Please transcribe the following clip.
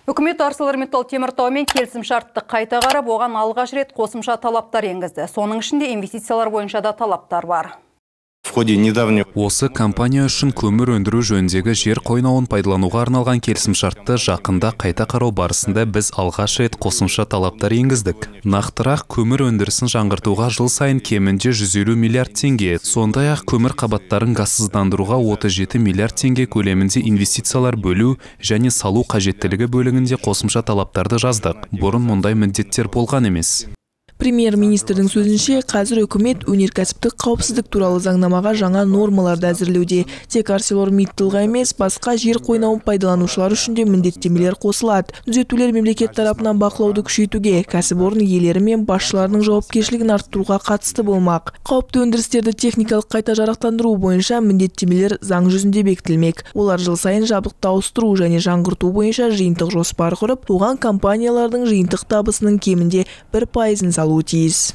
Үкімет ArcelorMittal теміртаумен келісім шартты қайта қарап, оған алғаш рет қосымша талаптар енгізді. Соның ішінде инвестициялар бойынша да талаптар бар. Осы компания үшін көмір өндіру жөніндегі жер қойнауын пайдалануға арналған келісімшартты жақында қайта қарау барысында біз алғаш рет қосымша талаптар енгіздік. Нақтырақ, көмір өндірісін жаңғыртуға жыл сайын кемінде 150 миллиард теңге, сондай-ақ көмір қабаттарын газсыздандыруға 37 миллиард теңге көлемінде инвестициялар бөлу және салу қажеттілігі бөлігінде қосымша талаптарды жаздық. Бұрын мұндай міндеттер болған емес. Премьер-министрдің сөзінше, қазір үкімет өнеркәсіптік қауіпсіздік туралы заңнамаға жаңа нормаларды әзірлеуде. Тек ArcelorMittalға емес, басқа жер қойнауын пайдаланушылар үшін де міндеттемелер қосылады. Түзетулер мемлекет тарапынан бақылауды күшейтуге, кәсіпорын иелері мен басшыларының жауапкершілігін арттыруға қатысты болмақ. Қауіпті өндірістерді техникалық қайта жарақтандыру бойынша міндеттемелер заң жүзінде бекітілмек. Олар жыл сайын жабдықты ауыстыру және жаңғырту бойынша жиынтық жоспар құрып, оған компаниялардың жиынтық табысының кемінде 1% салуы тиіс.